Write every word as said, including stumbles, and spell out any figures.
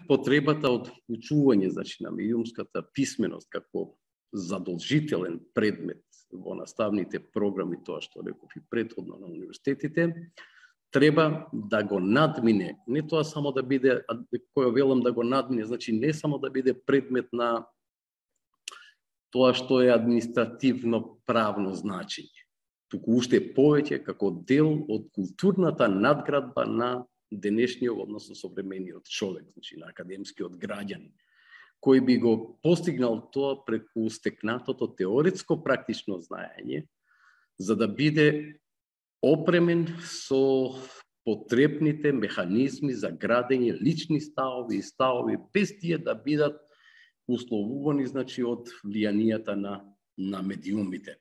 потребата од учување, значи, на медиумската писменост како задолжителен предмет во наставните програми, тоа што реков и претходно на универзитетите, треба да го надмине, не тоа само да биде, кој велам да го надмине, значи не само да биде предмет на тоа што е административно правно значење, туку уште повеќе како дел од културната надградба на денешниот, односно современиот човек, значи на академскиот граѓанин, кој би го постигнал тоа преку стекнатото теоретско практично знаење, за да биде опремен со потребните механизми за градење лични ставови и ставови, без тие да бидат условувани, значи, од влијанијата на, на медиумите.